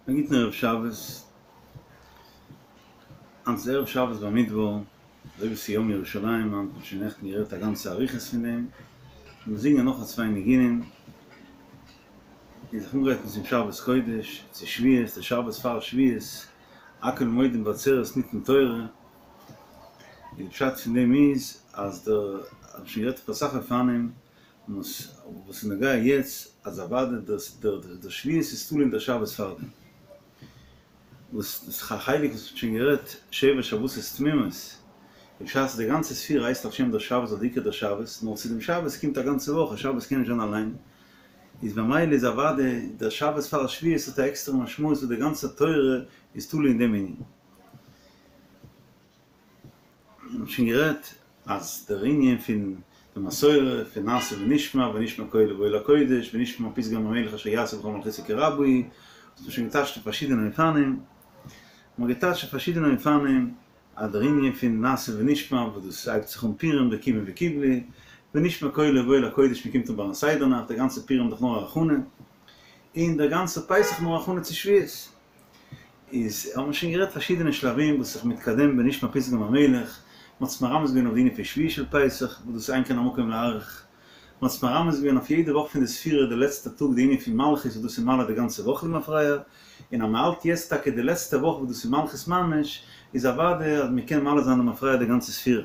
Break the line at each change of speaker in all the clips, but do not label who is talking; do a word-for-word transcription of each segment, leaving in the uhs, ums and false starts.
א גוטן ערב שבת, היינט איז ערב שבת במדבר, אזוי ווי ס'איז יום ירושלים, היינט האט מען שוין נעכטן גערעדט א גאנצע אריכות פון דעם, מיר זינגען נאך א צוויי ניגונים, און זיך אנגרייטן צום שבת קודש, צו שבועות, די שבת פאר שבועות, הכל מודים בעצרת ניתנה תורה, און די פשט פון דעם איז אז דער, האט מען שוין גערעדט אויף אסאך אופנים, וואס איז נוגע יעצט אז אוודאי דער דער שבועות איז תלוי אין דער שבת פארדעם, וואס דאס איז א חלק וואס מ'האט שוין גערעדט שבע שבתות תמימות, און בשעת די גאנצע ספירה הייסט על שם דער שבת אדער עיקר דער שבת, נאר צו דעם שבת קומט א גאנצע וואך, א שבת קען נישט זיין אליין, איז במילא איז אוודאי דער שבת פאר שבועות האט א עקסטערע משמעות וואס די גאנצע תורה איז תלוי אין דעם ענין. מען האט שוין גערעדט אז דער ענין פון די מסורה פון נעשה ונשמע ונשמע קולו בא אל הקודש ונשמע פתגם המלך אשר יעשה וכל מלכותו כי רבה היא, האט מען שוין געטייטשט אויף פארשידענע אופנים, מען האט געטייטשט אויף פארשידענע אופנים אז דער ענין פון נעשה ונשמע וואס דאס הייבט זיך אן פורים וקימו וקיבלו, ונשמע קולו בא אל הקודש מען קומט אן ביים סדר נאכט, דער גאנצער פורים איז דאך נאר א הכנה, און דער גאנצער פסח נאר א הכנה צו שבועות. איז האט מען שוין גערעדט פארשידענע שלבים וואס זיך מתקדם ונשמע פתגם המלך, מען האט עס מרמז געווען אויף די ענין פון שביעי של פסח וואס דאס איז אין כאן המקום להאריך, מען האט עס מרמז געווען אויף יעדע וואך פון די ספירה די לעצטע טאג די ענין פון מלכות וואס דאס איז מעלה די גאנצע וואך למפרע, און אז מען האלט יעצט טאקע די לעצטע וואך וואס דאס איז מלכות ממש, איז אוודאי אז מען קען מעלה זיין למפרע די גאנצע ספירה.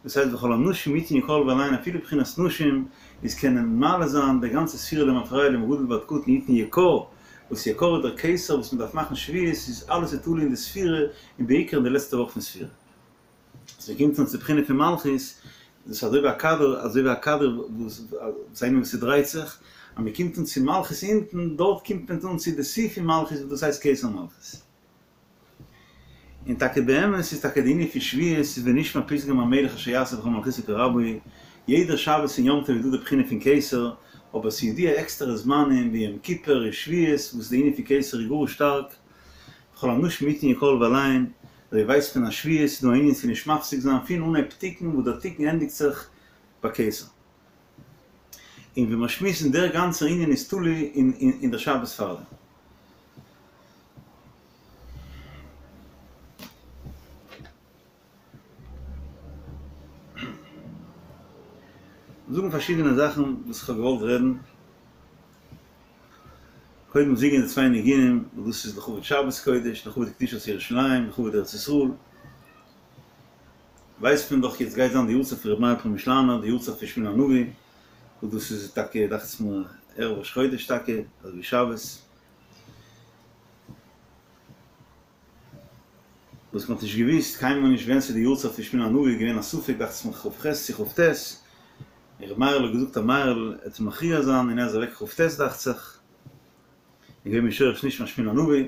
דאס הייסט וכל הנשים יתנו יקר לב אליין אפילו בחינת נשים איז קענען מעלה זיין די גאנצע ספירה למפרע מגדול ועד קטן יתנו יקר, וואס יקר איז דער כתר וואס מען דארף מאכן שבועות איז אלעס איז תלוי אין די ספירה און בעיקר אין די לעצטע וואך פון ספירה. אז מען קומט אן צו בחינה פון מלכות דאס איז אזוי ווי א כדור אזוי ווי א כדור וואס איינער וואס ס'דרייט זיך אז מען קומט אן צו מלכות אונטן דארט קומט מען אן צו די שיא פון מלכות וואס דאס הייסט כתר מלכות. און טאקע באמת איז טאקע די ענין פון שבועות איז ונשמע פתגם המלך אשר יעשה וכל מלכותו כי רבה היא, יעדער שבת און יום טוב איז דא די בחינה פון כתר, אבער ס'איז דא עקסטערע זמנים ווי יום כיפור און שבועות וואס די ענין פון כתר איז גאר שטארק, וכל הנשים יתנו יקר לב אליין, אזוי ווייסט מען אז שבועות איז דא א ענין פון נישט מפסיק זיין פון אנהייב תיקון וואס דער תיקון ענדיגט זיך ביי כתר. און ווי מיר שמועסן דער גאנצער ענין איז תלוי אין דער שבת פארדעם. זאגן פארשידענע זאכן וואס איך האב געוואלט רעדן, קודם זינגען די צוויי ניגונים וואס דאס איז לכבוד שבת קודש, לכבוד קדושת ירושלים, לכבוד ארץ ישראל, ווייסט מען דאך יעצט גייט זיין די יארצייט פון ר' מאיר פרעמישלאנער, די יארצייט פון שמואל הנביא, וואס דאס איז טאקע דאכט זיך מיר ערב ראש חודש טאקע, אזוי ווי שבת. וואס מ'האט נישט געוואוסט קיינמאל נישט ווען ס'איז די יארצייט פון שמואל הנביא איז געווען א ספק דאכט זיך מיר כ"ח צו כ"ט, און ר' מאיר'ל האט געזאגט אז מאיר'ל עט מכריע זיין און ער איז אוועק כ"ט דאכט זיך, איז געווען משורש נשמת שמואל הנביא,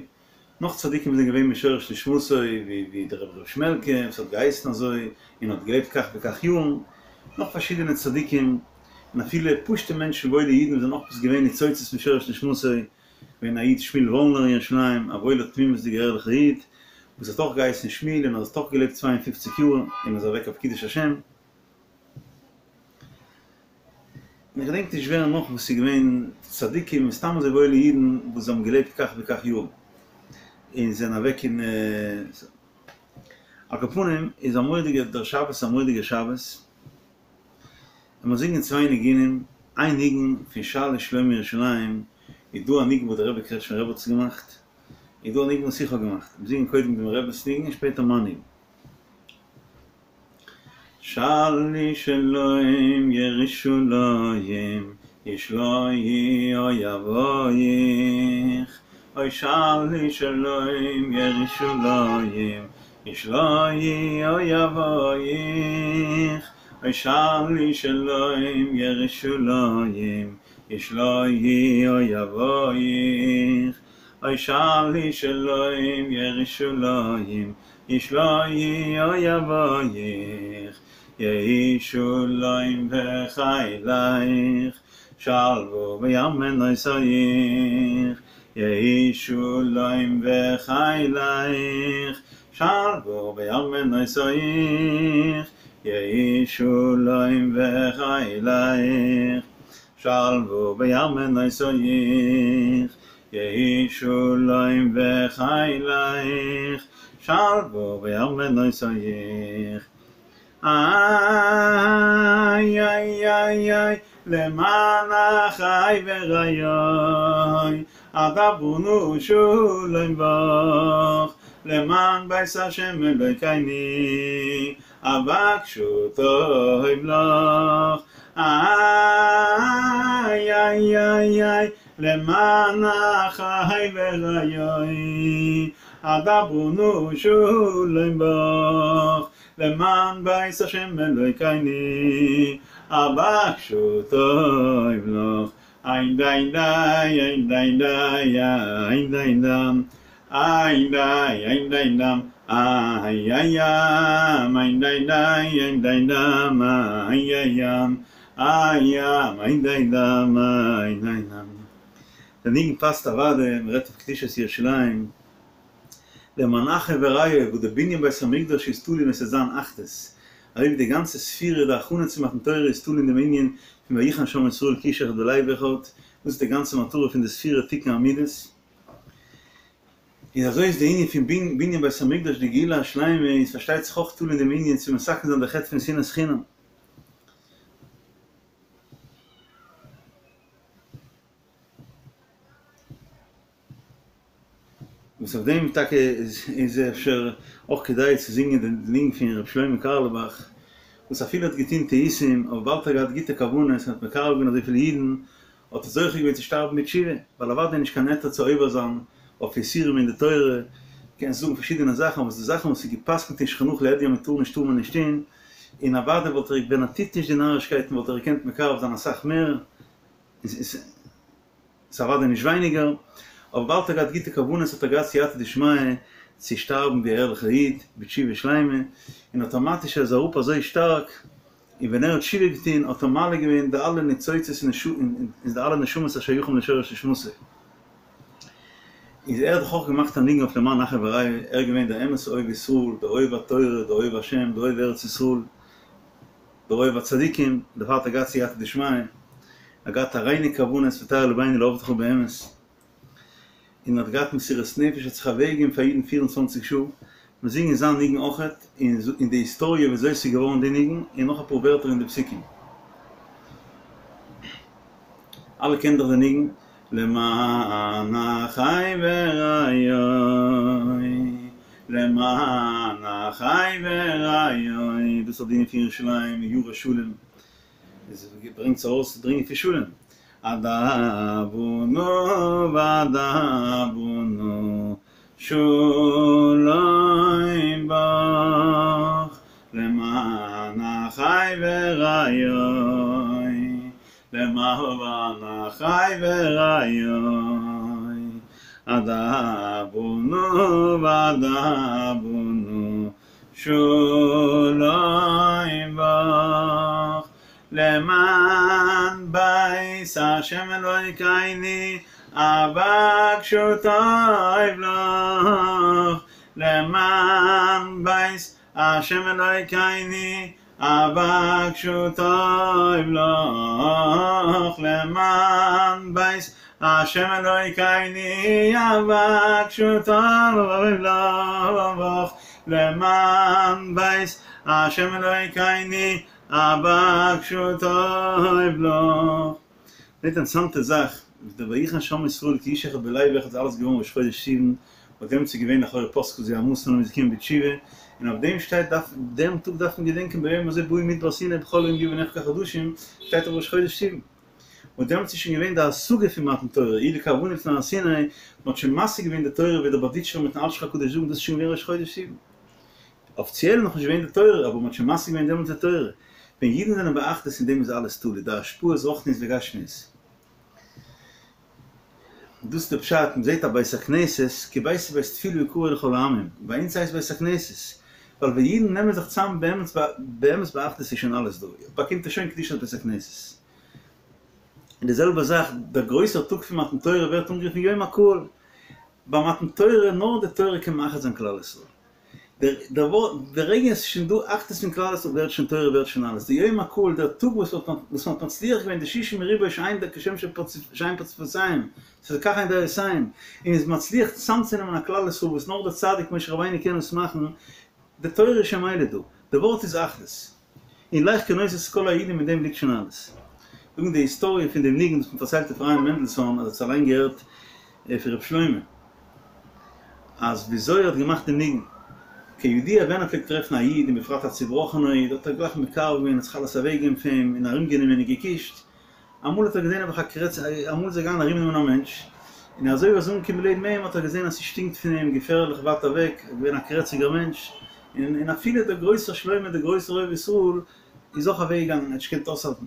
נאך צדיקים זענען געווען משורש נשמתו ווי ווי דער רבי ר' שמעלקע וואס האט געהייסן אזוי און האט געלעבט כך וכך יארן, נאך פארשידענע צדיקים און אפילו פשוטע מענטשן וואוילע אידן וואס זענען אויך עפעס געווען ניצוצות משורש נשמתו, געווען א איד שמואל וואלנער אין ירושלים, א וואוילער תמימות'דיגער ערליכער איד, וואס האט אויך געהייסן שמואל און האט אויך געלעבט צוויי און פֿופֿציק יאר און איז אוועק אויף קידוש השם. און איך געדענק נישט ווער נאך וואס איז געווען צדיקים און סתם אזוי וואוילע אידן וואס האבן געלעבט כך וכך יאר און זענען אוועק אין על כל פנים איז א מורא'דיגע דער שבת איז א מורא'דיגע שבת. און מיר זינגען צוויי ניגונים, איין ניגון פון שאלו שלום ירושלים, איז דא א ניגון וואס דער רבי קרעטשניפער רבי האט עס געמאכט, איז דא א ניגון וואס איך האב געמאכט, מיר זינגען קודם דעם רבינ'ס ניגון און שפעטער מיין ניגון. שאלו שלום ירושלים ישליו אויביך, אוי שאלו שלום ירושלים ישליו אויביך, אוי שאלו שלום ירושלים ישליו אויביך, אוי שאלו שלום ירושלים ישליו אויביך, יהי שלום בחילך שלוה בארמנותיך, יהי שלום בחילך שלוה בארמנותיך, יהי שלום בחילך שלוה בארמנותיך, יהי שלום בחילך שלוה בארמנותיך איי איי איי איי למען אחי ורעי אדברה נא שלום בך למען בית השם אלוקינו אבקשה טוב לך איי איי איי איי למען אחי ורעי אדברה נא שלום בך למען בית השם אלוקינו אבקשה טוב לך איין דיין דיי איין דיין דיי איין דיין דאם איין דיי איין דיין דאם איי איי ים איין דיין דיי איין דיין דאם איי איי ים איי ים איין דיין דאם איין דיין דאם דער ניגון פאסט אוודאי, מען רעדט אויף קדושת ירושלים, למען אחי ורעי וואס די בנין בית המקדש איז תלוי ווען ס'וועט זיין אחדות, אזוי ווי די גאנצע ספירה די הכנה צו מתן תורה איז תלוי אין דעם ענין פון ויחן שם ישראל כאיש אחד בלב אחד, דאס איז די גאנצע מטרה פון די ספירה תיקון המידות, איז אזוי איז די ענין פון בנין בית המקדש די גאולה השלימה איז פארשטייט זיך אויך תלוי אין דעם ענין צו מתקן זיין די חטא פון שנאת חינם. וואס אויף דעם טאקע איז אפשר אויך כדאי צו זינגען די ניגון פון ר' שלמה קארלבאך, וואס אפילו ער האט געטון טעותים, אבער וויבאלד ער האט געהאט גוטע כוונות און האט מקרב געווען אזויפיל אידן, האט ער זוכה געווען צו שטארבן בתשובה, ווייל אוודאי איז נישט קיין היתר צו עובר זיין אויף איסורים אין די תורה, קענסט זאגן פארשידענע זאכן, אבער ס'דא זאכן וואס איז גע'פסק'נט אין שולחן ערוך להדיא אז מ'טאר נישט טאר מען נישט טון, און אוודאי וואלט ער ווען ער טוט נישט די נארישקייטן וואלט ער געקענט מקרב זיין אסאך מער, ס'איז אוודאי נישט ווייניגער, אבער וויבאלד ער האט געהאט גוטע כוונות האט ער געהאט סייעתא דשמיא צו שטארבן ווי א ערליכער איד בתשובה שלימה, און אטאמאטיש איז ער אראפ אזוי שטארק, און ווען ער האט תשובה געטון האט ער מעלה געווען די אלע ניצוצות און די אלע נשמות השייכים לשורש נשמתו. איז ער האט דאך אויך געמאכט א ניגון אויף למען אחי ורעי, ער איז געווען דער אמת'ע אוהב ישראל, דער אוהב התורה, דער אוהב השם, דער אוהב ארץ ישראל, דער אוהב הצדיקים, דערפאר האט ער געהאט סייעתא דשמיא, ער האט געהאט א ריינע כוונות וטהר לבנו לעבדך באמת, און האט געהאט מסירות נפש, האט זיך אוועק געגעבן פאר אידן פֿיר און צוואַנציק שעה, מיר זינגען זיין ניגון אויכעט, און די היסטאריע ווי אזוי עס איז געווארן די ניגון, און נאך אפאר ווערטער אין די פסוקים. אלע קענען דאך די ניגון, למען אחי ורעי, למען אחי ורעי, דאס איז די ענין פון ירושלים, ירא שלום, עס ברענגט ארויס דער ענין פון שלום, אדברה נא ואדברה נא שלום בך, למען אחי ורעי, למען אחי ורעי, אדברה נא ואדברה נא שלום בך, למען בית השם אלוקינו אבקשה טוב לך, למען בית השם אלוקינו אבקשה טוב לך, למען בית השם אלוקינו אבקשה טוב לך, למען בית השם אלוקינו אבקשה טוב לך. די אינטערעסאנטע זאך איז דער ויחן שם ישראל כאיש אחד בלב אחד איז אלעס געווארן ראש חודש סיוון, אויף דעם איז געווען לכאורה פסקה זוהמתן און מ'איז געקומען בתשובה, און אויף דעם שטייט דארף דעם טאג דארף מען געדענקען ביום הזה באו מדבר סיני בכל יום יהיו בעיניך כחדשים, שטייט אויף ראש חודש סיוון. און דעמאלטס איז שוין געווען די השגה פון מתן תורה, אי לכוונה לפני הר סיני, מען האט שוין משיג געווען די תורה ווי דער בארדיטשובער מיטן אלשיך הקדוש זאגן דאס איז שוין געווען ראש חודש סיוון. אפיציעל נאך נישט געווען די תורה, אבער מען האט שוין משיג געווען דעמאלטס די תורה. ווען אידן זענען באחדות אין דעם איז אלעס תלוי, די השפעות רוחניות וגשמיות. דאס איז די פשט, מען זעט א בית הכנסת, כי ביתי בית תפילה יקרא לכל העמים, ביי אונז הייסט בית הכנסת, ווייל ווען אידן נעמען זיך צאם באמת באמת באחדות איז שוין אלעס דא, באקומט ער שוין קדושת בית הכנסת. און די זעלבע זאך, דער גרויסער טאג פון מתן תורה ווערט אנגערופן יום הקהל, ביי מתן תורה, נאר די תורה קען מאחד זיין כלל ישראל. דער דער ווארט, די רגע עס איז שוין דא אחדות פון כלל ישראל ווערט שוין תורה ווערט שוין אלעס, די יום הקהל, דער טאג וואס וואס מ'האט מצליח געווען די שישים ריבוא שאין כשם שאין פרצופיהם, ס'איז כך הן דעותיהם, און איז מצליח צוזאמצונעמען א כלל ישראל וואס נאר דער צדיק משה רבינו קען עס מאכן, די תורה איז שוין מילא דא, די ווארט איז אחדות. און לך כנוס את כל היהודים מיט דעם ליגט שוין אלעס. זאגן די היסטאריע פון דעם ניגון וואס מ'פארציילט אפרים מענדלסאן אז ער האט עס אליין געהערט פון ר' שלמה אז וויאזוי ער האט געמאכט די ניגון. כידוע ווען ער פלעגט טרעפן א איד און בפרט א צובראכענער איד האט ער גלייך מקרב געווען האט זיך אלעס אוועקגעגעבן פאר אים און ארומגענומען און געקישט. אמאל האט ער געזען נעבעך א קרעץ, אמאל איז ער געגאנגען ארומנעמען א מענטש, און אזוי ווי ער איז אנגעקומען לעבן אים האט ער געזען אז ס'שטינקט פון אים געפערליך ווייט אוועק, ער איז געווען א קרעציגער מענטש, און און אפילו דער גרויסער שלמה דער גרויסער אוהב ישראל איז אויך אוועק געגאנגען, ער האט נישט געקענט אויסהאלטן.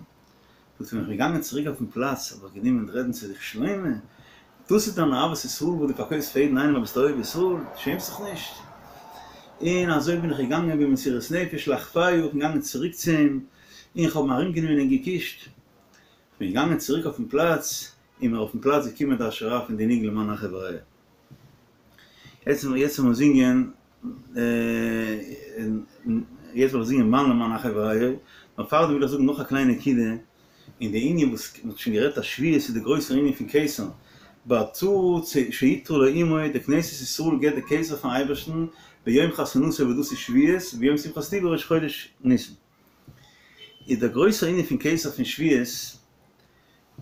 זאגט ער, ווען איך בין געגאנגען צוריק אויפן פלאץ האב איך גענומען רעדן צו זיך, שלמה, דאס איז דיין אהבת ישראל וואס דו פארקויפסט פאר יעדן איינעם אז ביסט א אוהב ישראל, דו שעמסט זיך נישט? און אזוי בין איך געגאנגען במסירות נפש לאחוויה, איך בין געגאנגען צוריק צו אים, און איך האב אים ארומגענומען און געקישט. איך בין געגאנגען צוריק אויפן פלאץ, און מיר אויפן פלאץ געקומען די השראה פון די ניגון למען אחי ורעי. יעצט יעצט וועל מיר זינגען, יעצט וועל איך זינגען מאן למען אחי ורעי, נאר פארדעם וויל איך זאגן נאך א קליינע נקודה, אין די ענין וואס מען האט שוין גערעדט אז שבועות איז די גרויסער ענין פון כתר, בעצור שעיטרה לו אמו, די כנסת ישראל געבט די כתר פארן אייבערשטן ביום חתונתו וואס דאס איז שבועות, וביום שמחת לבו ראש חודש ניסן. איז דער גרויסער ענין פון כתר פון שבועות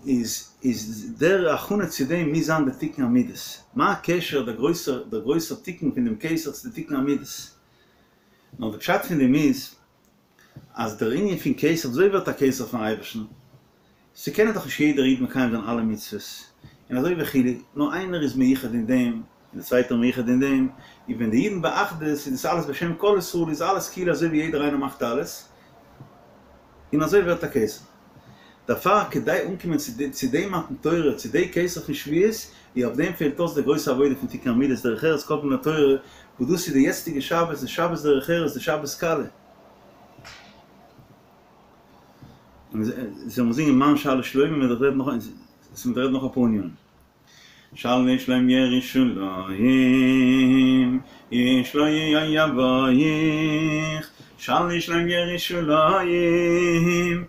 איז איז דער הכנה צו דעם מוז זיין די תיקון המידות. מה הקשר דער גרויסער דער גרויסער תיקון פון דעם כתר צו די תיקון המידות? נאר די פשט פון דעם איז אז דער ענין פון כתר, וויאזוי ווערט א כתר פארן אייבערשטן? ס'קען דאך נישט יעדער איד מקיים זיין אלע מצוות, און אזוי וכו', נאר איינער איז מיוחד אין דעם, און דער צווייטער מיוחד אין דעם, און ווען די אידן באחדות איז דאס אלעס בשם כל ישראל איז אלעס כאילו אזוי ווי יעדער איינער מאכט אלעס, און אזוי ווערט א כתר. דערפאר כדי אנקומען צו די מתן תורה, צו די כתר פון שבועות, איז אויף דעם פעלט אויס די גרויסע עבודה פון תיקון המידות דרך ארץ קדמה לתורה, וואס דאס איז די יעצטיגע שבת, די שבת דרך ארץ, די שבת קלה. און זאל מען זינגען מאן שאל שלום מ'וועט דאך רעדן נאך מ'וועט רעדן נאך אפאר ענינים. שאל שלום ירושלים ישליו אויביך שאל שלום ירושלים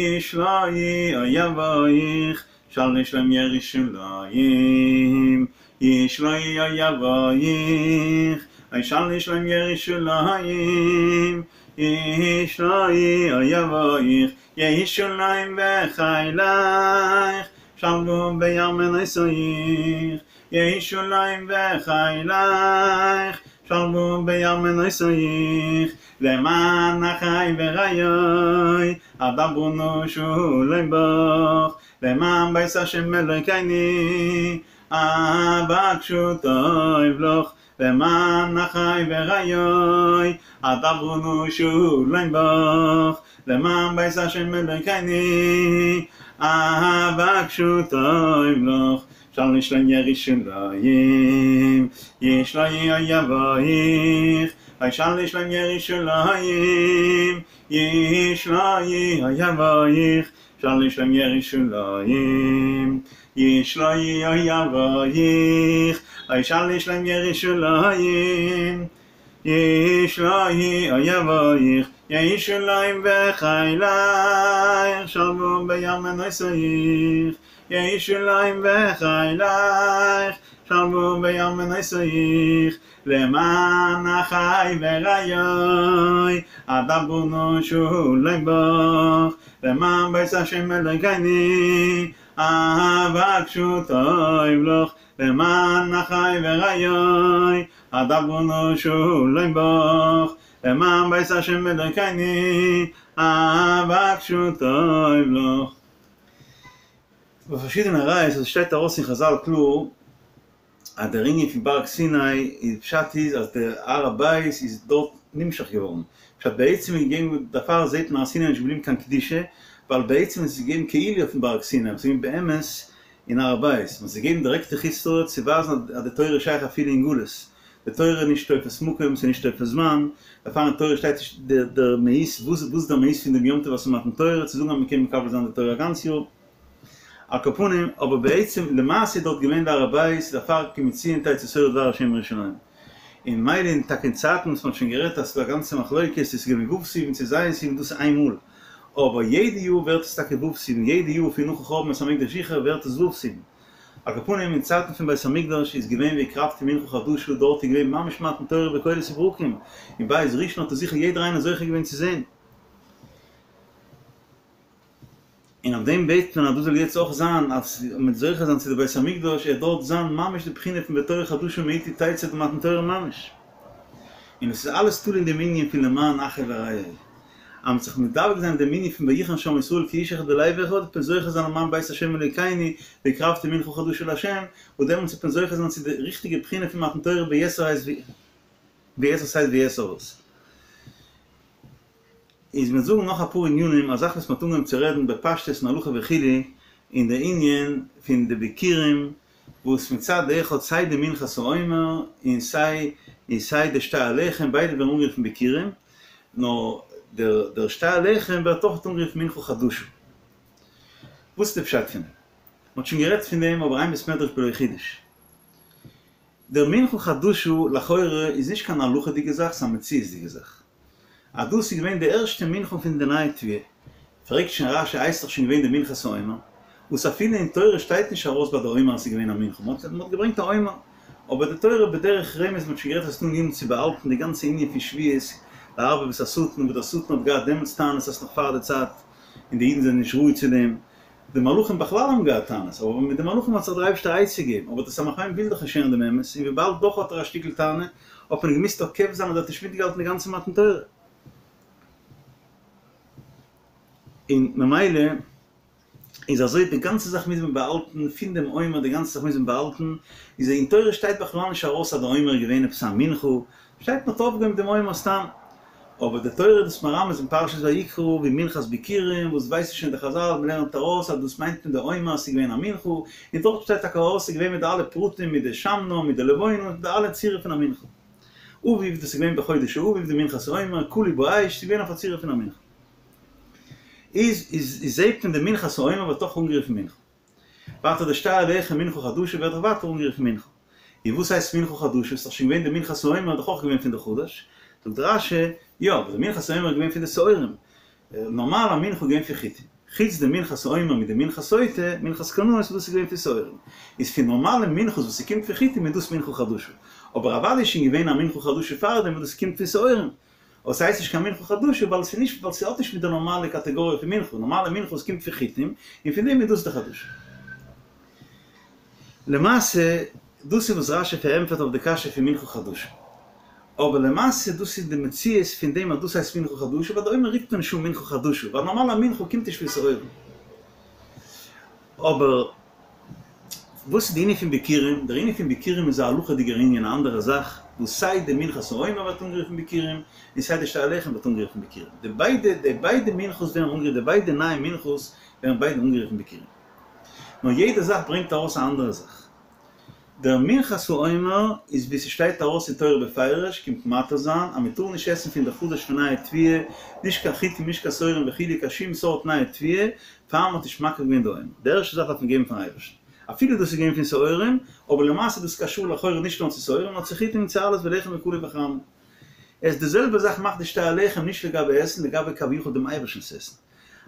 ישליו אויביך שאל שלום ירושלים ישליו אויביך שאל שלום ירושלים ישליו אויביך ירושלים בחילך שלוו בארמנותיך ירושלים בחילך שלוו בארמנותיך למען אחי ורעי אדברה נא שלום בך למען בית השם אלוקינו אבקשה טוב לך למען אחי ורעי אדברה נא שלום בך למען בית השם אלוקינו אבקשה טוב לך שאל שלום ירושלים ישליו אויביך שאל שלום ירושלים ישליו אויביך שאל שלום ירושלים ישליו אויביך שאל שלום ירושלים ישליו אויביך ירושלים בחילך שלוו בארמנותיך ירושלים בחילך שלוו בארמנותיך למען אחי ורעי אדברה נא שלום בך למען בית השם אלוקינו אבקשה טוב לך למען אחי ורעי אדברה נא שלום בך למען בית השם אלוקינו אבקשה טוב לך. ביי פארשידענע ראיות אז עס שטייט ארויס אין חזל קלאר אז דער ענין פון בארג סיני איז פשט איז אז דער הר הבית איז דארט נמשך געווארן, פשט בעצם איז געגעבן דערפאר זעט מען הר סיני איז נישט געבליבן קיין קדושה ווייל בעצם איז עס געגעבן כאילו אויפן בארג סיני אבער עס איז געווען באמת אין הר הבית, מען האט עס געגעבן דירעקט אין חוץ לארץ צו ווייזן אז די תורה איז שייך אפילו אין גלות, די תורה איז נישט תופס מקום, ס'איז נישט תופס זמן, דערפאר אין תורה שטייט נישט דער מהות, וואס איז דער מהות פון דעם יום טוב אז ס'איז מתן תורה, צו זאגן אז מ'קען מקבל זיין די תורה א גאנץ יאר. על כל פנים, אבער בעצם למעשה איז דארט געווען די הר הבית, דערפאר כי מציון תצא תורה ודבר השם מירושלים. און מילא אין טאקע אין צייטן וואס מ'האט שוין גערעדט אז ס'איז דא א גאנצע מחלוקת צו ס'איז געווען ו' סיוון צו ז' סיוון דאס איז איין מאל, אבער יעדע יאר ווערט עס טאקע ו' סיוון, יעדע יאר פון נאכן חורבן בית המקדש זיכער ווערט עס ו' סיוון. על כל פנים אין צייטן פון בית המקדש איז געווען והקרבתי מנחה חדשה דארט איז געווען ממש מתן תורה בקולות וברקים, אין בית ראשון האט עס זיכער יעדער איינער זוכה געווען צו זען. און אויף דעם בעט מען אז דאס זאל יעצט אויך זיין, אז מ'וועט זוכה זיין צו די בית המקדש, ער דארט זיין ממש די בחינה פון בתורה חדשה מאתי תצא די מתן תורה ממש. און עס איז אלעס תלוי אין דעם ענין פון למען אחי ורעי. אז מ'וועט זיך מדבק זיין אין דעם ענין פון ויחן שם ישראל כאיש אחד בלב אחד, וועט מען זוכה זיין למען בית השם אלוקינו, והקרבתי מנחה חדשה לה', און דעמאלטס וועט מען זוכה זיין צו די ריכטיגע בחינה פון מתן תורה ביתר שאת וביתר עוז. איז מיר זאגן נאך אפאר ענינים, א זאך וואס מ'האט אנגעהויבן צו רעדן בפשטות אין הלכה וכו', אין די ענין פון די ביכורים, וואס מצד אחד סיי די מנחת העומר און סיי און סיי די שתי הלחם ביידע ווערן אנגערופן ביכורים, נאר דער דער שתי הלחם ווערט אויך אנגערופן מנחה חדשה. וואס איז די פשט פון דעם? מ'האט שוין גערעדט פון דעם אבער אין בית מדרש בלא חידוש. דער מנחה חדשה לכאורה איז נישט קיין הלכה'דיגע זאך, ס'איז א מציאות'דיגע זאך. אז דאס איז געווען די ערשטע מנחה פון די נייע תבואה. פרעגט שוין רש"י איז דאך שוין געווען די מנחת העומר, וואס אפילו אין תורה שטייט נישט ארויס ביי די עומר אז ס'איז געווען א מנחה, מ'האט מ'האט געברענגט א עומר, אבער די תורה בדרך רמז מ'האט שוין גערעדט אז ס'איז דא ענינים צו באהאלטן די גאנצע ענין פון שבועות, לערבב את השטן, וואס דער שטן האט געהאט דעמאלטס טענות אז ס'נאך פאר די צייט און די אידן זענען נישט ראוי צו דעם, די מלאכים בכלל האבן געהאט טענות, אבער מיט די מלאכים האט זיך דער אייבערשטער א עצה געגעבן, אבער דער סמך מם וויל דאך נישט הערן דעם אמת, און וויבאלד דאך האט ער א שטיקל טענה, האט מען געמוזט עוקב זיין אז ער האט נישט מיטגעהאלטן די גאנצע מתן תורה. און ממילא איז אזוי די גאנצע זאך מוז מען באהאלטן, פון דעם עומר די גאנצע זאך מוז מען באהאלטן, איז אין תורה שטייט בכלל נישט ארויס אז די עומר איז געווען עפעס א מנחה, שטייט מ'האט אויפגעהויבן דעם עומר סתם. אבער די תורה איז דאס מרמז אין פרשת ויקרא ווי מנחת ביכורים, וואס ווייסן שוין די חזל, מ'לערנט ארויס אז דאס מיינט מען די עומר אז ס'איז געווען א מנחה, און דארט שטייט טאקע ארויס ס'איז געווען מיט די אלע פרטים מיט די שמנה מיט די לבונה מיט די אלע צורה פון א מנחה. אביב, דאס איז געווען בחודש האביב די מנחת העומר, קלוי באש, ס'איז געווען אויף א צורה פון א מנחה. איז איז זעהט מען די מנחת העומר ווערט אויך אנגערופן מנחה. ווייטער די שתי הלחם מנחה חדשה ווערט דאך ווייטער אנגערופן מנחה. און וואס הייסט מנחה חדשה? ס'איז דאך שוין געווען די מנחת העומר איז דאך אויך געווען פון די חדש. זאגט רש"י, יא, אבער די מנחת העומר איז געווען פון די שעורים. נארמאל א מנחה איז געווען פון חיטים. חוץ די מנחת העומר מיט די מנחת סוטה, מנחת קנאות, דאס איז געווען פון שעורים. איז פון נארמאלע מנחות וואס ס'קומט פון חיטים איז דאס מנחה חדשה. אבער אוודאי איז שוין געווען א מנחה חדשה פארדעם וואס דאס קומט פון שעורים. אבער ס'הייסט נישט קיין מנחה חדשה ווייל ס'איז נישט ווייל ס'האט נישט מיט די נארמאלע קאטעגאריע פון מנחה, נארמאלע מנחה וואס קומט פון חיטים, און פון דעם איז דאס די חדשה. למעשה, דאס איז וואס רש"י פארענטפערט אויף די קשיא פון מנחה חדשה. אבער למעשה דאס איז די מציאות פון דעם אז דאס הייסט מנחה חדשה, ווייל די עומר רופט מען נישט אן מנחה חדשה, ווייל נארמאלע מנחה קומט נישט פון שעורים. אבער וואס איז די ענין פון ביכורים? דער ענין פון ביכורים איז א הלכה'דיגער ענין, א אנדערע זאך, וואס סיי די מנחת העומר ווערט אנגערופן ביכורים, און סיי די שתי הלחם ווערט אנגערופן ביכורים. די ביידע, די ביידע מנחות ווערן אנגערופן, די ביידע נייע מנחות ווערן ביידע אנגערופן ביכורים. נאר יעדע זאך ברענגט ארויס א אנדערע זאך. דער מנחת העומר איז ווי ס'שטייט ארויס אין תורה בפירוש, קומט מתיר זיין אז מ'טאר נישט עסן פון די חדש פון נייע תבואה, נישט קיין חיטים נישט קיין שעורים וכו' קיין שום סארט נייע תבואה, פאר מ'האט נישט מקריב געווען די עומר. די ערשטע זאך דארף מען געבן פארן אייבערשטן. אפילו דאס איז געווען פון שעורים, אבער למעשה איז דאס קשור לכאורה נישט נאר צו שעורים נאר צו חיטים און צו אלעס ולחם וקלוי בחרמון. עס די זעלבע זאך מאכט די שתי הלחם נישט לגבי עסן, לגבי כביכול דעם אייבערשטנ'ס עסן.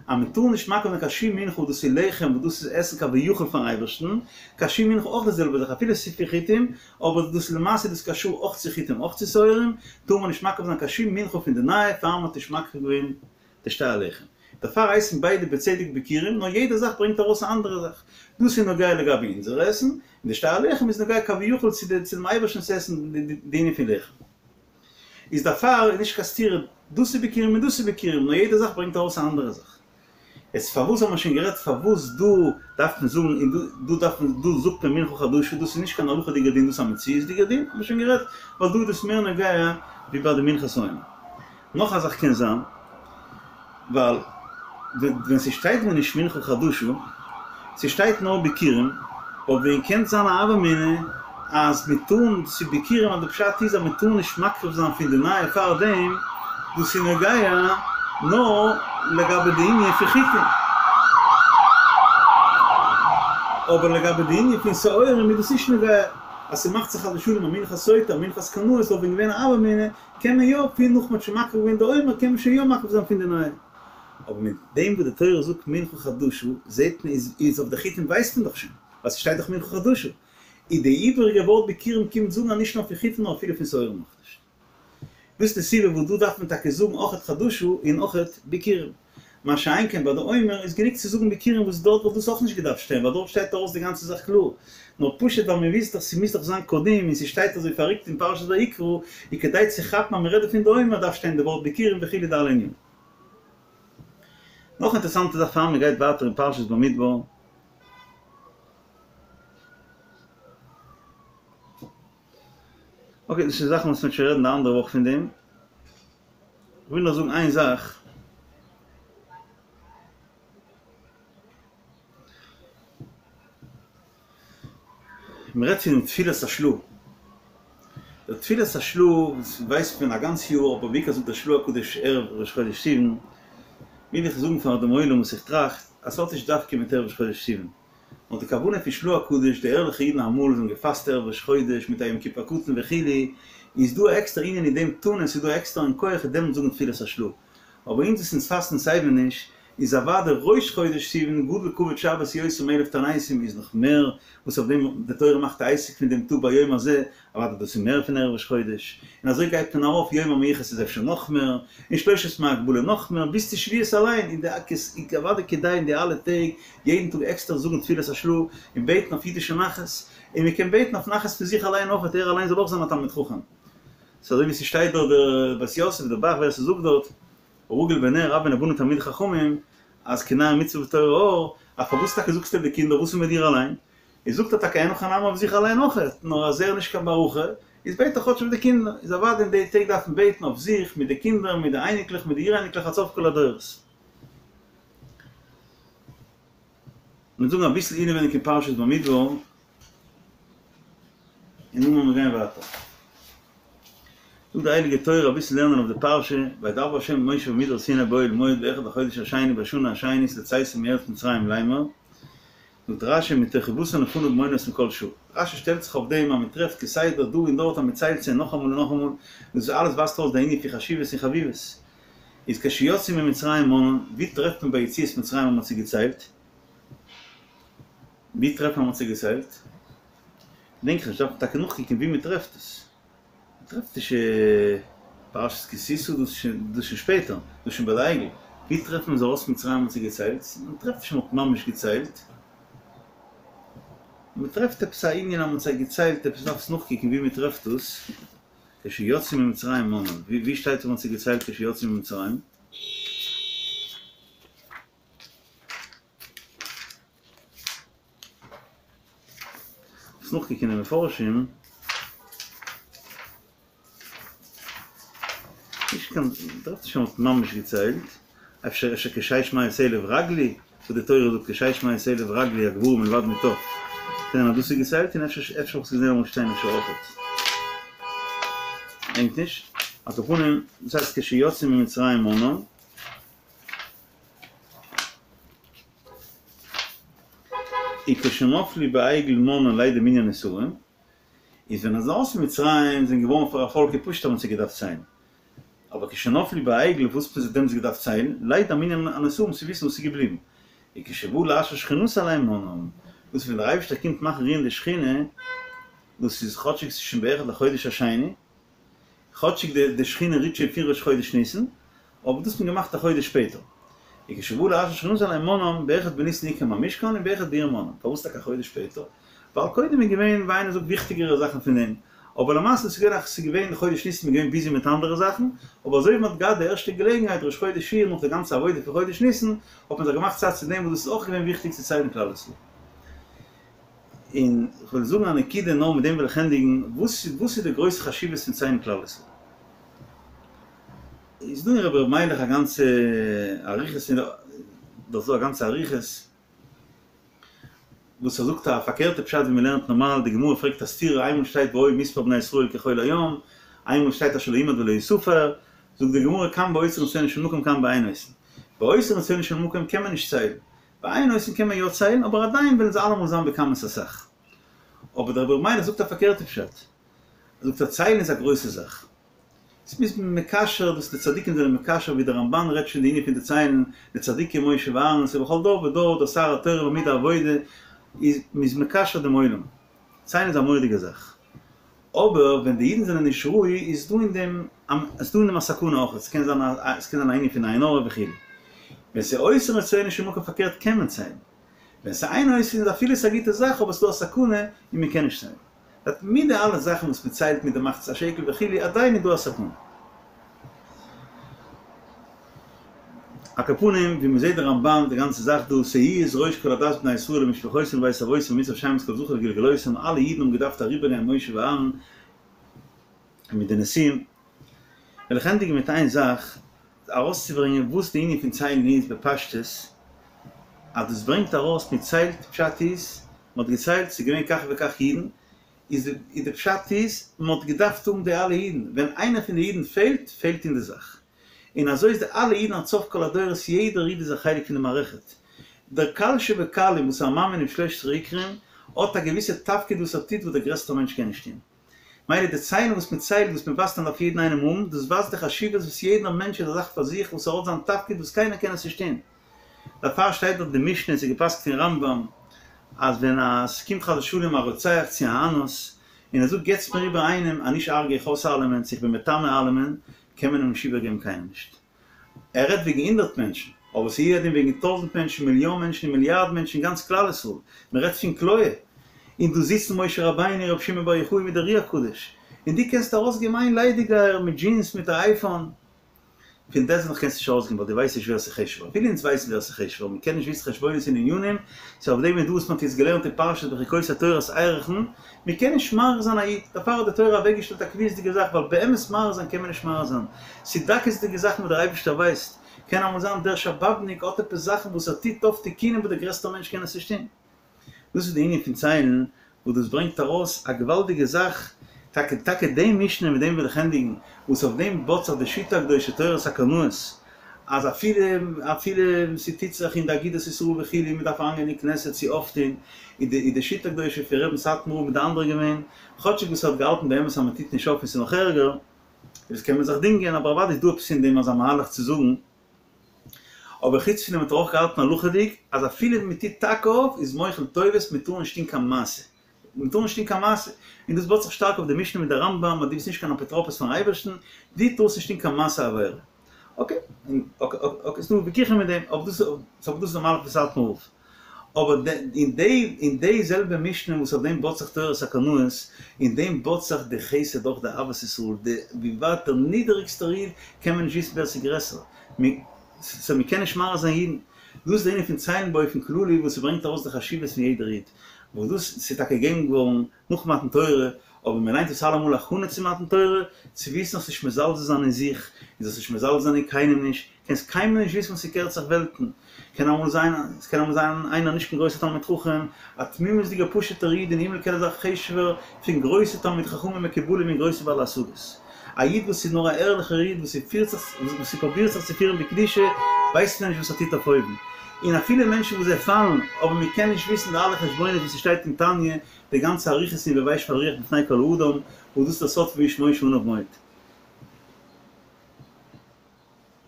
אז מען טאר נישט מקריב זיין קיין שום מנחה וואס דאס איז לחם וואס דאס איז עסן כביכול פארן אייבערשטן, קיין שום מנחה אויך די זעלבע זאך אפילו עס איז פון חיטים, אבער דאס למעשה איז דאס קשור אויך צו חיטים אויך צו שעורים, טאר מען נישט מקריב זיין קיין שום מנחה פון די נייע פאר מען האט נישט מקריב געווען די שתי הלחם. דערפאר הייסן ביידע בצדק ביכורים, נאר יעדע זאך ברענגט ארויס א אנדערע זאך. דאס איז נוגע לגבי אונזער עסן, און די שתי הלחם איז נוגע כביכול צו דעם אייבערשטנ'ס עסן די ענין פון לחם. איז דערפאר איז נישט קיין סתירה, דאס איז ביכורים און דאס איז ביכורים, נאר יעדע זאך ברענגט ארויס א אנדערע זאך. איז פארוואס האט מען שוין גערעדט פארוואס דא דארף מען זאגן און דא דארף מען דא זאגט מען מנחה חדשה, דאס איז נישט קיין הלכה'דיגער דין דאס איז א מציאות'דיגער דין, האט מען שוין גערעדט ווייל דא איז דאס מער נוגע ווי ביי די מנחת העומר. נאך א זאך קען זיין ווייל ווען ס'שטייט ווען נישט מנחה חדשה, ס'שטייט נאר ביכורים, וואלט ווען געקענט זיין א הוה אמינא אז מ'טאר ס'איז ביכורים אז די פשט איז אז מ'טאר נישט מקריב זיין פון די נייע פאר דעם, דאס איז נוגע נאר לגבי די ענין פון חיטים. אבער לגבי די ענין פון שעורים איז דאס נישט נוגע. אז ס'מאכט זיך חס ושלום א מנחת סוטה, א מנחת קנאות וואלט ווען געווען א הוה אמינא, קען מען יא פון נאך מ'האט שוין מקריב געווען די עומר קען מען שוין יא מקריב זיין פון די נייע. אבער מיט דעם וואס די תורה זאגט מנחה חדשה זעהט מען איז איז אויף די חיטים ווייסט מען דאך שוין, ווייל ס'שטייט דאך מנחה חדשה. איז די איבעריגע ווארט ביכורים קומט זאגן אז נישט נאר פון חיטים נאר אפילו פון שעורים אויך נישט. דאס איז די סיבה וואס דא דארף מען טאקע זאגן אויכעט חדשה און אויכעט ביכורים. מה שאין כן ביי די עומר איז גענוג צו זאגן ביכורים וואס דארט וואלט דאס אויך נישט געדארפט שטיין ווייל דארט שטייט ארויס די גאנצע זאך קלאר. נאר פשוט ווייל מען וויסט דאך ס'מוז דאך זיין קדים און ס'שטייט אזוי פארריקט אין פרשת ויקרא איז כדי צו כאפן אז מ'רעדט דא פון די עומר דארף שטיין די ווארט ביכורים וכו' די אלע ענינים. נאך אינטערסאנטע זאך פאר מ'גייט ווייטער אין פרשת במדבר. אקעי, דאס איז זאכן וואס מ'וועט שוין רעדן די אנדערע וואך פון דעם. כ'וויל נאר זאגן איין זאך. מ'רעדט פונעם תפילת השל"ה. דער תפילת השל"ה ווייסט מען א גאנץ יאר, אבער בעיקר זאגט דער של"ה הקדוש ערב ראש חודש סיוון. וויל איך זאגן פאר דעם עולם וואס איך טראכט, אז ס'האט נישט דווקא מיט ערב ראש חודש סיוון. נאר די כוונה פון של"ה הקדוש, די ערליכע אידן אמאל זיי האבן געפאסט ערב ראש חודש מיט א יום כיפור קטן וכו', איז דא א עקסטער ענין אין דעם טאן און ס'איז דא עקסטער אן כח אין דעם זאגן תפילת השל"ה. אבער אונז וואס אונז פאסטן סייווי נישט, איז אוודאי ראש חודש סיוון גדול כבוד שבת יותר מאלף תעניתים איז נאך מער, וואס אויף דעם די תורה מאכט א עסק פון דעם טאג ביום הזה, אוודאי דאס איז מער פון ערב ראש חודש, און אזוי גייט מען ארויף, יום המיוחס איז אפשר נאך מער, און שלושת ימי הגבלה נאך מער, ביז צו שבועות אליין, און די איז אוודאי כדאי אין די אלע טעג יעדן טאג עקסטער זאגן תפילת השל"ה, און בעטן אויף אידישע נחת, און מען קען בעטן אויף נחת פון זיך אליין אויך, ער אליין זאל אויך זיין א תלמיד חכם. ס'איז אזוי ווי ס'שטייט דארט דער בית יוסף, דער ב"ח ווער ס'זאגט דארט, הרגיל בנר רבים לבנים תלמידי חכמים, אז כנר מצוה ותורה אור, אז פארוואס טאקע זאגסטו אויף די קינדער וואס איז מיט דיר אליין? איז זאגט ער טאקע אין הכי נמי אויף זיך אליין אויכעט, נאר אז ער איז נישט קיין בר הכי, איז בעט ער כאטש אויף די קינדער, איז אוודאי אין די טעג דארף מען בעטן אויף זיך, מיט די קינדער, מיט די אייניקלעך, מיט די אור-אייניקלעך עד סוף כל הדורות. מיר זאגן אביסל אינעווייניג אין פרשת במדבר, און נאכדעם וועלן מיר גיין ווייטער. זאגט די הייליגע תורה אביסל לערנען אויף די פרשה, וידבר ה' אל משה במדבר סיני באוהל מועד באחד החודש השני בשנה השנית לצאתם מארץ מצרים לאמר, זאגט רשי מתוך חיבתן לפניו מונה אותם כל שעה. רשי שטעלט זיך אויף דעם אז מען טרעפט כסדר דא און דארט אז מען ציילט זיי נאכאמאל און נאכאמאל, דאס אלעס ווייזט אויס די ענין פון חשיבות און חביבות. איז כשיצאו ממצרים מנאן, ווי טרעפט מען ביי יציאת מצרים אז מען האט זיי געציילט? ווי טרעפט מען אז מען האט זיי געציילט? געדענק איך נישט, דארף מען טאקע נאכקוקן ווי מען טרעפט עס. מ'טרעפט נישט פרשת כי תשא, דאס איז שוין שפעטער, דאס איז שוין ביי די עגל. ווי טרעפט מען אז ארויס מצרים האט זיי געציילט? מ'טרעפט נישט מ'האט ממש געציילט. מ'טרעפט עפעס א ענין אז מ'האט זיי געציילט, עפעס דארף עס נאכקוקן ווי מ'טרעפט דאס. כשיצאו ממצרים מנאן, ווי שטייט אז מ'האט זיי געציילט כשיצאו ממצרים? כ'האב נאכגעקוקט אין די מפרשים, נישט קיין, מ'טרעפט נישט אז מ'האט ממש געציילט, אפשר אפשר כשש מאות אלף רגלי, וואס די תורה זאגט כשש מאות אלף רגלי הגברים מלבד מטף, קען זיין אז דאס איז געציילט און אפשר אפשר האב איך עס געזען אמאל שטיין אפשר אויכעט. געדענק נישט, על כל פנים, דאס הייסט כשיצאו ממצרים מנאן. וכשנפלו בעגל מנאן לידע מנין הנשאים, איז ווען אז ארויס פון מצרים זענען געווארן פאר א פאלק איז פשוט אז מ'האט זיי געדארפט ציילן, אבער כשנפלו בעגל וואס האט מען זיי דעמאלטס געדארפט ציילן, לידע מנין הנשאים צו וויסן וואס איז געבליבן, וכשבא להשרות שכינתו עליהם מנאן, דאס ווען דער אייבערשטער קומט מאכן רוען די שכינה, דאס איז כאטשיג ס'איז שוין באחד לחודש השני, כאטשיג די די שכינה רוט שוין פון ראש חודש ניסן, אבער דאס האט מען געמאכט א חודש שפעטער. וכשבא להשרות שכינתו עליהם מנאן, באחד בניסן הוקם המשכן און באחד באייר מנאן. פארוואס טאקע א חודש שפעטער? ווייל קודם איז געווען, ווי איינער זאגט, וויכטיגערע זאכן פון דעם. אבער למעשה איז געווען אז ס'איז געווען חודש ניסן מ'איז געווען ביזי מיט אנדערע זאכן, אבער אזוי ווי מ'האט געהאט די ערשטע געלעגנהייט ראש חודש אייר נאך די גאנצע עבודה פון חודש ניסן, האט מען זיך געמאכט צייט צו דעם וואס דאס איז אויך געווען וויכטיג צו ציילן כלל ישראל. און כ'וועל זאגן א נקודה נאר מיט דעם וועל איך ענדיגן, וואס וואס איז די גרויסע חשיבות פון ציילן כלל ישראל? איז דא אין רבי ר' מיילעך א גאנצע אריכות אין דאס דא א גאנצע אריכות וואס ער זאגט א פארקערטע פשט ווי מ'לערנט נארמאל, די גמרא פרעגט א סתירה איינמאל שטייט והיה מספר בני ישראל כחול הים, איינמאל שטייט אשר לא ימד ולא יספר, זאגט די גמרא כאן באותרין רצונו של מקום כאן באין עושין, באותרין רצונו של מקום קען מען נישט ציילן, באין עושין קען מען יא ציילן אבער עדיין וועלן זיי אלעמאל זיין בכמות אסאך. אבער דער רבי ר' מיילעך זאגט א פארקערטע פשט. ער זאגט אז ציילן איז א גרויסע זאך. עס מוז מען מקשר, דאס די צדיקים זענען מקשר ווי דער רמבן רעדט שוין די ענין פון די ציילן, די צדיקים משה ואהרן, ס'איז בכל דור ודור דער שר התורה ועמוד העבודה איז מ'איז מקשר דעם עולם. ציילן איז א מורא'דיגע זאך. אבער ווען די אידן זענען נישט ראוי איז דא אין דעם איז דא אין דעם א סכנה אויך, עס קען זיין א עס קען זיין א ענין פון עין הרע וכו'. ווען ס'איז עושין רצונו של מקום פארקערט קען מען ציילן. ווען ס'איז אין עושין איז אפילו ס'איז א גוטע זאך אבער ס'איז דא א סכנה און מ'קען נישט ציילן. דאס מיט די אלע זאכן וואס מ'ציילט מיט די מחצית השקל וכו' עדיין איז דא א סכנה. על כל פנים ווי מ'זעט די רמבן די גאנצע זאך דא שאו את ראש כל עדת בני ישראל למשפחותם לבית אבותם במצרים שמות כל זכר לגלגלותם אלע אידן האבן געדארפט אריבערגיין משה ואהרן מיט די נשיאים. וועל איך ענדיגן מיט איין זאך ארויסצוברענגען וואס די ענין פון ציילן איז בפשטות, אז דאס ברענגט ארויס מען ציילט, פשט איז, מען האט געציילט, ס'איז געווען כך וכך אידן, איז די פשט איז, מען האט געדארפט האבן די אלע אידן, ווען איינער פון די אידן פעלט, פעלט אין די זאך. און אזוי איז די אלע אידן עד סוף כל הדורות, יעדער איד איז א חלק פון די מערכת. דער קל שבקלים וואס איז א מאמין אין שלש עשרה עיקרים, האט א געוויסע תפקיד וואס ער טוט וואס דער גרעסטער מענטש קען נישט טון. מילא די ציילן וואס מען ציילט וואס מען ווייזט אן דארף יעדן איינעם האבן, דאס ווייזט די חשיבות וואס יעדער מענטש איז א זאך פאר זיך וואס ער האט זיין תפקיד וואס קיינער קען עס נישט טון. דערפאר שטייט דארט די משנה און ס'איז געפסק'ט אין רמב ם אז ווען א ס'קומט חס ושלום א רוצח צו א אנוס און ער זאגט געטס מיר איבער איינעם אנישט הרג'ע איך אויס אלעמען צו איך בין מטמא אלעמען קען מען אים נישט איבערגעבן קיינעם נישט. ער רעדט וועגן הונדערט מענטשן, אבער ס'איז הוא הדין וועגן טויזנט מענטשן, מיליאן מענטשן און מיליארד מענטשן, גאנץ כלל ישראל. מען רעדט פון כליה. און דא זיצן משה רבינו, רבי שמעון בר יוחאי מיט דער אר"י הקדוש. און דו קענסט ארויסגעבן איין ליידיגייער מיט דזשינס מיט א אייפאון. פון דעסט נאך קענסטו נישט ארויסגעבן ווייל דו ווייסט נישט ווער ס'איז חשוב'ער. אפילו אונז ווייסן ווער ס'איז חשוב'ער, מען קען נישט וויסן חשבונות און ענינים, ס'איז אויף דעם איז דא וואס מען האט יעצט געלערנט אין פרשת בחוקותי תורת ערכין, מען קען נישט מעריך זיין א איד, דערפאר האט די תורה אוועקגעשטעלט א קביעות'דיגע זאך, ווייל באמת מעריך זיין קען מען נישט מעריך זיין, ס'איז דקות'דיגע זאכן וואס דער אייבערשטער ווייסט, קען אמאל זיין דער שבאבניק האט עפעס זאכן וואס ער טוט אויף תיקונים וואס דער גרעסטער מענטש קען עס נישט טון. דאס איז די ענין פון ציילן, וואס דאס ברענגט ארויס א געוואלדיגע זאך, טאקע טאקע די משנה מיט דעם וויל איך ענדיגן, וואס אויף דעם בויט זיך די שיטה הקדושה תורת הקנאות, אז אפילו אפילו ס'טוט זיך אין די אגודת ישראל וכו' מען דארף אריינגיין אין כנסת צו אויפטון, איז די איז די שיטה הקדושה פון רבי'ן סאטמאר רב מיט די אנדערע געווען, כאטשיג וואס ער האט געהאלטן באמת אז מען טוט נישט אויף און ס'איז נאך ערגער, דאס קען מען זיך דינגען, אבער אוודאי איז דא עפעס אין דעם אזא מהלך צו זאגן, אבער חוץ פון דעם האט ער אויך געהאלטן הלכה'דיג אז אפילו ווען מען טוט טאקע אויף איז מוחל טובות מען טאר נישט טון קיין מעשה, מען טאר נישט טון קיין מעשה, און דאס בויט זיך שטארק אויף די משנה מיט די רמב ם אז דו ביסט נישט קיין אפוטרופוס פארן אייבערשטן, דו טארסט נישט טון קיין מעשה עבירה. אקעי, אקעי, ס'דא וויכוחים מיט דעם, אבער דאס אבער דאס איז די מהלך פון סאטמאר רב. אבער אין די אין די זעלבע משנה וואס אויף דעם בויט זיך תורת הקנאות, אין דעם בויט זיך די חסד אויך די אהבת ישראל, די ווי ווייט דער נידעריגסטער איד קען מען נישט וויסן ווער ס'איז גרעסער, סאו מ'קען נישט מעריך זיין אידן. דאס איז די ענין פון ציילן באופן כללי וואס ס'ברענגט ארויס די חשיבות פון יעדער איד, וואס דאס ס'איז טאקע געגעבן געווארן נאך מתן תורה, אבער מען ליינט עס אלעמאל הכנה צו מתן תורה, צו וויסן זאלסט נישט מזלזל זיין אין זיך, און זאלסט נישט מזלזל זיין אין קיינעם נישט, קענסט קיינמאל נישט וויסן וואס ס'קערט זיך וועלטן, קען אמאל זיין, עס קען אמאל זיין איינער נישט קיין גרויסער תלמיד חכם, א תמימות'דיגער פשוט'ער איד אין הימל קען ער זיין חשוב'ער פון גרויסע תלמידי חכמים מקובלים און גרויסע בעלי השגות. א איד וואס איז נאר א ערליכער איד וואס פירט זיך וואס פרובירט זיך צו פירן בקדושה ווייסט מען נישט וואס ער טוט אויף אויבן, און אפילו מענטשן וואס זיי פאלן, אבער מען קען נישט וויסן די אלע חשבונות וואס ס'שטייט אין תניא, די גאנצע אריכות אין והוי שפל רוח בפני כל אדם, וואס דאס איז דער סוד פון והאיש משה עניו מאוד.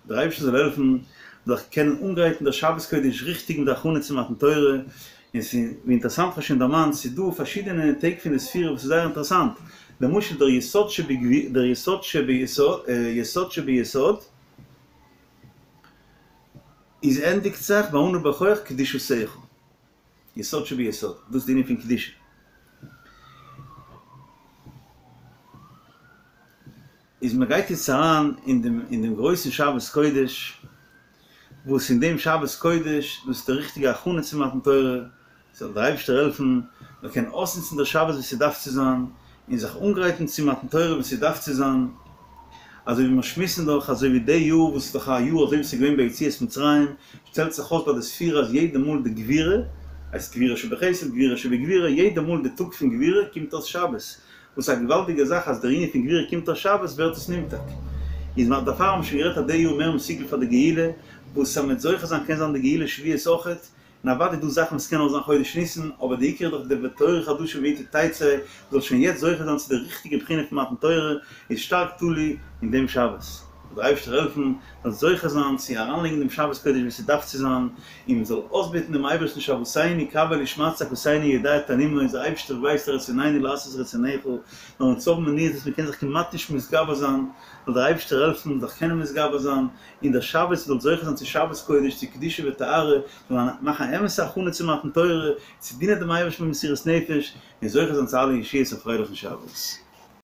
דער אייבערשטער זאל העלפן זיך קענען אנגרייטן דער שבת קודש ריכטיג מיט די הכנה צו מתן תורה, און ס'איז ווי אינטערעסאנט כ'האב שוין דערמאנט, ס'איז דא פארשידענע טעג פון די ספירה וואס איז זייער אינטערעסאנט, למשל דער יסוד שבגבי דער יסוד שביסוד יסוד שביסוד איז ענדיגט זיך ביי אנא בכח קדושתך. יסוד שביסוד, דאס איז די ענין פון קדושה. איז מען גייט יעצט אריין אין דעם אין דעם גרויסן שבת קודש, וואס אין דעם שבת קודש, דאס איז די ריכטיגע הכנה צו מתן תורה, זאל דער אייבערשטער העלפן מען קען אויסנוצן דער שבת ווי ס'דארף צו זיין, און זיך אנגרייטן צו מתן תורה ווי ס'דארף צו זיין, אזוי ווי מיר שמועסן דאך, אזוי ווי די יאר וואס איז דאך א יאר אזוי ווי ס'איז געווען ביי יציאת מצרים, שטעלט זיך אויס ביי די ספירה אז יעדע מאל די גבורה, הייסט גבורה שבחסד, גבורה שבגבורה, יעדע מאל די טאג פון גבורה קומט אויס שבת, וואס איז א געוואלדיגע זאך אז דער ענין פון גבורה קומט אויס שבת ווערט עס נמתק. איז דערפאר האבן מיר שוין גערעדט אז די יאר מער מסוגל פאר די גאולה, וואס אז מ'וועט זוכה זיין קען זיין די גאולה שבועות אויכעט, און אוודאי איז דא זאכן וואס קען נאר זיין חודש ניסן, אבער די עיקר איז דאך די ותורה חדשה מאתי תצא, מ'זאל שוין יעצט זוכה זיין צו די ריכטיגע בחינה פון מתן תורה, איז שטארק תלוי אין דעם שבת. זאל דער אייבערשטער העלפן מ'זאל זוכה זיין צו אריינלייגן דעם שבת קודש ווי ס'דארף צו זיין, און מ'זאל אויסבעטן דעם אייבערשטן שועתנו קבל ושמע צעקתנו יודע תנומו, דער אייבערשטער ווייסט רצוננו לעשות רצונך, נאר אונז האבן מניעות וואס מ'קען זיך כמעט נישט מתגבר זיין, זאל דער אייבערשטער העלפן מ'זאל זיך קענען מתגבר זיין, און דער שבת זאל זוכה זיין צו שבת קודש, צו קדושה וטהרה, זאל מען מאכן א אמת'ע הכנה צו מתן תורה, צו דינען דעם אייבערשטן במסירות נפש, און זוכה זיין צו אלע ישועות א פרייליכן שבת.